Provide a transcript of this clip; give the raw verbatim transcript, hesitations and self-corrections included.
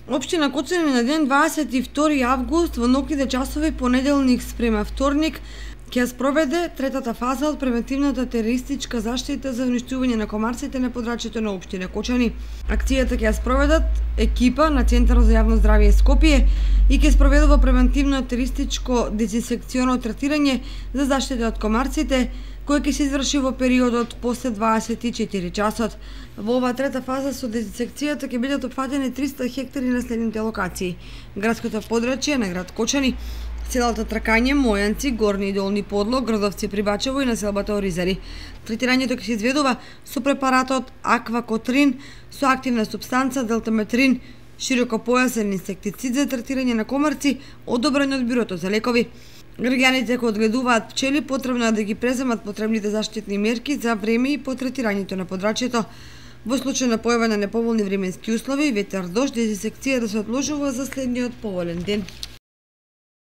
Општина Кочани на ден дваесет и втори август во ноќните часови понеделник спрема вторник ќе ја спроведе третата фаза од превентивната терористичка заштита за уништување на комарците на подрачјето на општина Кочани. Акцијата ќе ја спроведат екипа на Центарот за јавно здравје Скопје и ќе спроведува превентивно терористичко дезинсекционо третирање за заштита од комарците, кој ќе се изврши во периодот после дваесет и четири часот. Во оваа трета фаза со дезинсекцијата ќе бидат опфатени триста хектари на следните локации: градското подрачје на град Кочани, селата Тракање, Мојанци, Горни и Долни Подлог, Гродовци при Бачево и населбата Оризари. Третирањето ќе се изведува со препаратот Аквакотрин со активна супстанца Делтаметрин, широкопојасен инсектицид за третирање на комарци, одобрен од Бюрото за лекови. Граѓаните кои одгледуваат пчели потребно е да ги преземат потребните заштитни мерки за време и по третирањето на подрачјето. Во случај на појава на неповолни временски услови, ветер, дожд, дезинсекција да се одложува за следниот поволен ден.